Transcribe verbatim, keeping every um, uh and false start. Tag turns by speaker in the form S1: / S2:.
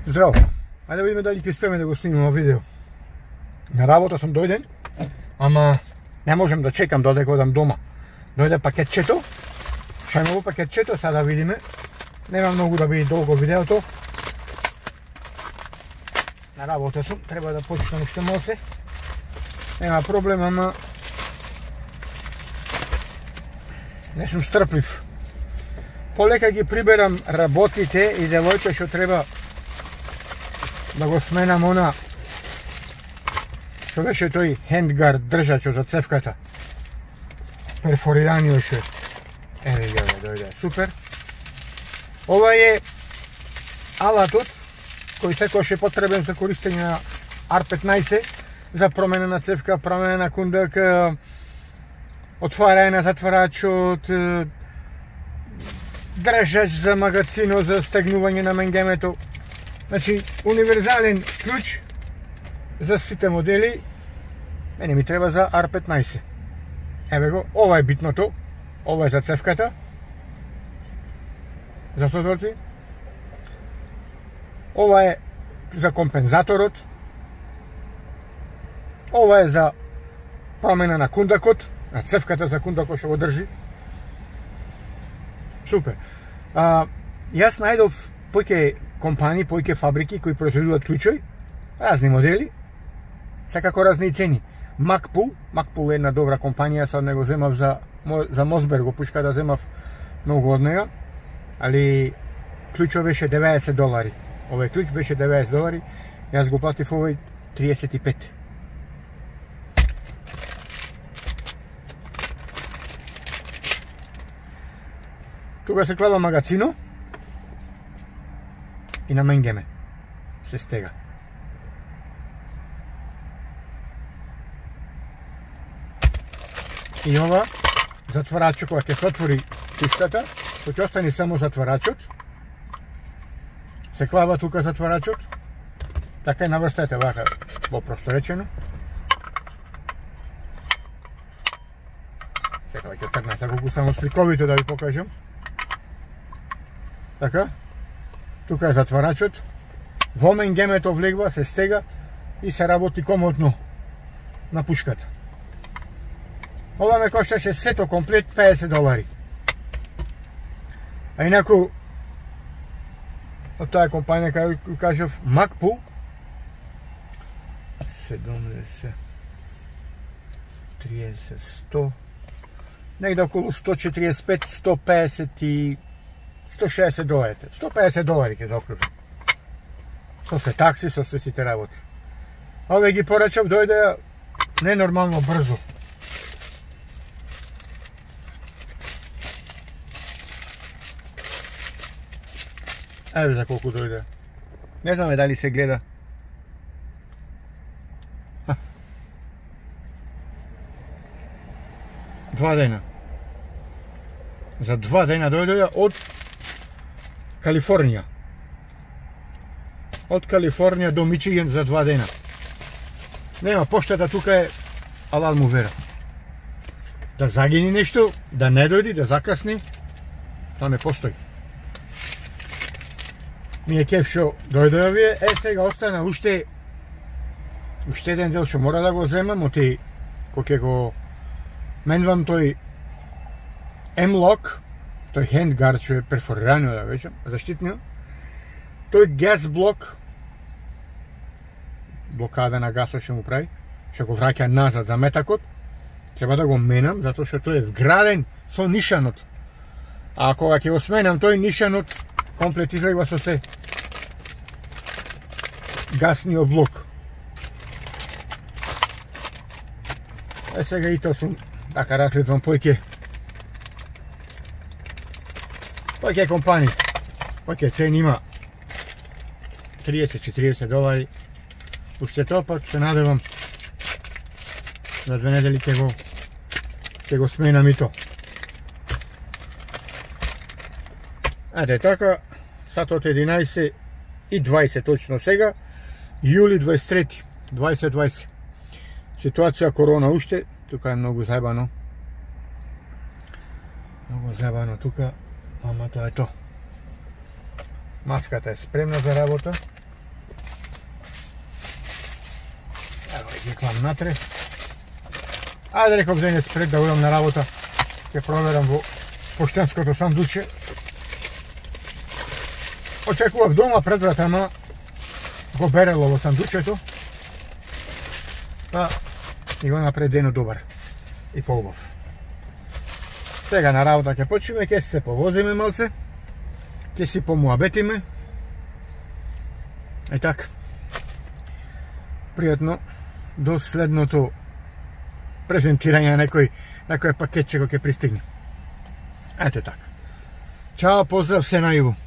S1: Здраво! Ајде да видиме дали ќе успееме да го снимаме видео. На работа сум дојден, ама не можем да чекам додека одам дома. Дојде пакетчето, шајмово пакетчето, сега да видиме. Нема многу да биде долго видеото. На работа сум, треба да почнам уште мосе. Нема проблем, ама не сум стрплив. Полека ги приберам работите и девојка што треба да го сменам она што беше тој хендгард држачот за цевката. Перфорираниот што еве ја дојде, супер. Ова е алатот кој секогаш е потребен за користење на ар петнаесет за промена на цевка, промена на кундак, отварање на затварачот, држач за магацино, за стегнување на менгемето. Значи, универзален клjuč за сите модели. Мене ми треба за ар петнаесет. Еве го, ова е битното. Ова е за цевката. За соторци. Ова е за компензаторот. Ова е за промена на кундакот, на цевката за кундакот што го држи. Супер. А, јас најдов поќе компании, поќе фабрики кои произведуваат клjučови, разни модели, секако разни цени. Макпул, Макпул е една добра компанија, сад не го земав за за Мосберг, го пушка да земав многу од нега, али клjučот беше деветдесет долари. Овој клjuč беше деветдесет долари, јас го платив овој триесет и пет. Тука се клада магацино и на менгеме се стега. И ова затварачот, кога ќе се отвори пуштата, кој ќе остане само затварачот, се клава тука затварачот, така и наврстете вака попросто речено. Чекај, ќе тргнам за колку само сликовито да ви покажам. Така, тука е затварачот, во менгемето влегва, се стега и се работи комотно на пушката. Ова ме кошташе сето комплет педесет долари. А инаку, од таа компанија, кај кажав, Макпул, седумдесет, триесет, сто, негде околу сто четириесет пет, сто педесет и сто шеесет долари. сто педесет долари ќе заокружам. Со се такси, со се сите работи. Ове ги порачав, дојде ненормално брзо. Еве за колку дојде. Не знаме дали се гледа. Два дена. За два дена дојде од Калифорнија. Од Калифорнија до Мичиген за два дена. Нема, поштата тука е алал му вера. Да загини нешто, да не дојди, да закасни, тоа не постои. Ми е кеф шо дојде овие, е сега остана уште уште еден дел што мора да го земам, оти кој ќе го менвам тој M-Lock, тој хендгард што е перфорирано да вечам, заштитниот, тој газ блок, блокада на гасот што му прави, што го враќа назад за метакот, треба да го менам, затоа што тој е вграден со нишанот. А кога ќе го сменам тој нишанот, комплет излегва со се гасниот блок. Е сега и тоа сум, така разгледвам поќе поќе компании, поќе цени има триесет до четириесет долари. Уште тоа пак се надевам за две недели ќе го ќе го сменам и тоа. Ајде така, сатот единаесет и дваесет точно сега, јули дваесет трети, дваесет дваесет. Ситуација корона уште, тука е многу заебано. Многу заебано тука, ама тоа е тоа. Маската е спремна за работа. Ја клам натре. Ајде реков денес пред да одам на работа, ќе проверам во поштенското сандуче. Очекував дома пред врата, ама го берело во сандучето. Па и го напред денот добар и поубав. Сега на работа ќе почнеме, ќе се повозиме малце, ќе си помуабетиме. И така. Пријатно до следното презентирање на некој некој пакетче кој ќе пристигне. Ете така. Чао, поздрав, се најубаво.